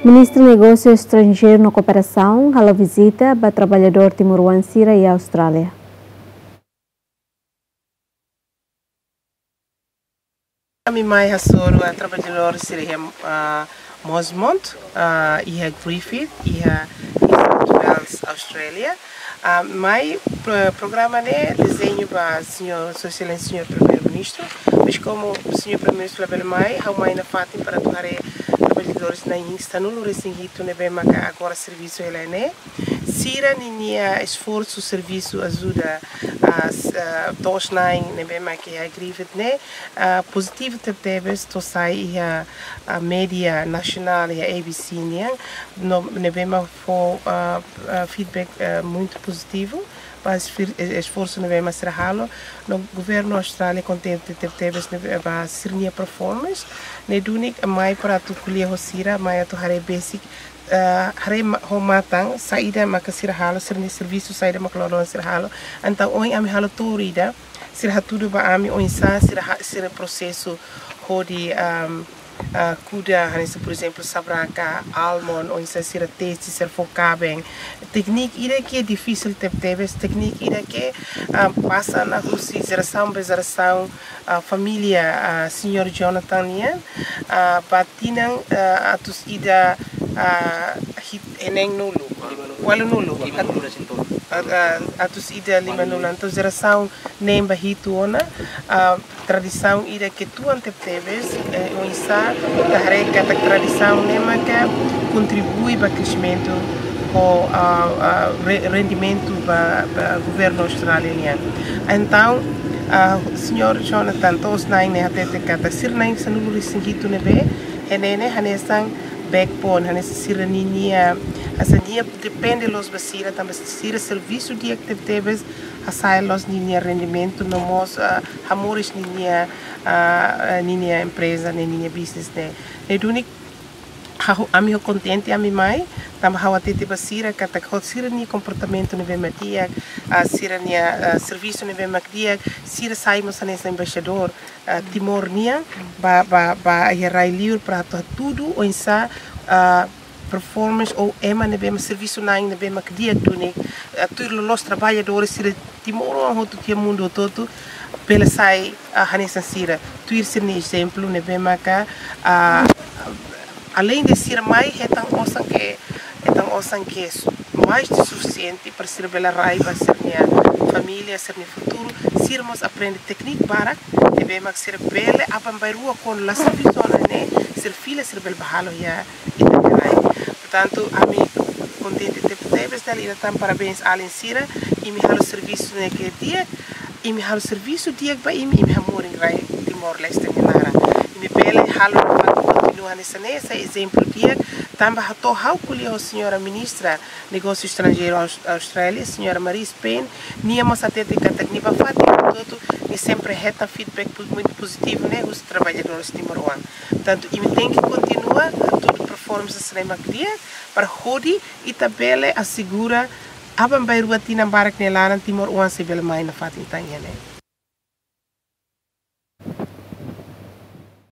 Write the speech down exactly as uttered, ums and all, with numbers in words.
Ministru Negósiu Estranjeiru no Kooperasaun halo vizita ba traballadór timoroan sira iha Austrália. Ami mai hasoru, ah, traballadór sira iha, ah, Mosmont, ah, iha Griffith, iha New South Wales, Austrália. Ah, mai pro-, programa ne'e dezeñu ba señór, Sua Exelénsia Señór Primeiru-Ministru, mas komu señór Primeiru-Ministru labele mai, ha'u mai nafatin para atu haree traballadores na'in sanulu-resin-hitu ne'ebé maka agora servisu hela ne'e. Sira ninia esforsu, servisu, ajuda, ah, s-, ah, to'os-na'in ne'ebé maka iha Griffith ne'e, ah, pozitivu tebetebes, to'o sai iha, ah, média nasionál, iha A B C nian, no, ne'ebé mak fó, ah, ah, feedback, ah, muitu pozitivu ba esfir-, e-, esforsu ne'ebé mak sira halo. No governu Austrália kontente tebetebes ne'ebé ba sira-nia performance. Ne'e duni ami mai para atu ko'alia ho sira, mai atu haree besik, ah, haree ma-, ho matan saida maka sira halo, sira-nia servisu saida maka loroloron sira halo. Entaun ohin ami halo tour ida, sira hatudu ba ami oinsá sira ha-, sira prosesu hodi, am, ah, kuda, hanesan, por ezemplu, sabraka, almond, oinsá sira tesi, sira fó kaben. Tékniku ida ke difisil tebetebes, tékniku ida ke, ah, pasa ona husi jerasaun ba jerasaun, ah, família, ah, señór Jonathan nian, ah, ba tinan, ah, atus ida, ah, hit-, neen-nulu, ualunulu, ah, ah, atus ida limanulu. Entaun jerasaun neen ba hitu ona, ah, tradisaun ida ke tuan tebetebes, eh, oinsá ita haree katak tradisaun ne'e maka kontribui ba kreximentu ho, ah, ah, re-, rendimentu ba, ba governu Austrália nian. Entaun, ah, señór Jonathan to'os-na'in ne'e hatete katak sira na'in sanulu-resin-hitu ne'ebé, ne'e ne'e hanesan backbone, hanesan sira ninia, hanesan nia depende loos ba sira, tanba sira servisu di'ak tebetebes, hasa'e loos ninia rendimentu, no mós, ah, hamoris ninia, ah, ah, ninia empreza, ne'e ninia business ne'e. Ne'e duni ha'u, ami ho kontente ami mai, tanba ha'u hatete ba sira katak ho sira-nia komportamentu ne'ebé mak di'ak, ah, sira-nia, ah, servisu ne'ebé mak di'ak, sira sai mós hanesan embaixadór, ah, Timor nian, ba, ba, ba iha rai-liur para atu hatudu oinsá, ah, performance ou ema ne'ebé mak servisu na'in ne'ebé mak di'ak duni, ah, tuir loloos traballadores sira timoroan hotu iha mundu hotu-hotu bele sai, ah, hanesan sira. Tuir sira-nia ezemplu ne'ebé maka, ah, além de sira mai hetan osan ke, hetan osan ke su-, mais de sufisiente para sira bele rai ba sira-nia família, sira-nia futuru, sira mós aprende tékniku barak ne'ebé mak sira bele aban-bainrua kuandu la servisu ona ne'e, sira fila sira bele bá halo iha ita-nia rai. Portantu, ami kontente tebetebes dala ida tan, parabéns alin sira, imi halo servisu ne'e ke di'ak, imi halo servisu di'ak ba imi, imi hamorin rai Timor-Leste nia naran. Imi bele halo nafatin kontinua hanesan ne'e, sai ezemplu di'ak, tanba ha'u to'o ha'u ko'alia ho señora ministra Negósiu Estranjeiru Aus-, Austrália, señora Marise Payne, nia mós hatete katak nia bá fatin hotu-hotu, nia sempre hetan feedback po-, muitu pozitivu ne'e husi traballadores timoroan. Portantu, imi tenke kontinua hatudu performance sira ne'ebé mak di'ak, para hodi ita bele asegura aban-bainrua tinan barak nia laran timoroan sei bele mai nafatin tan iha ne'e.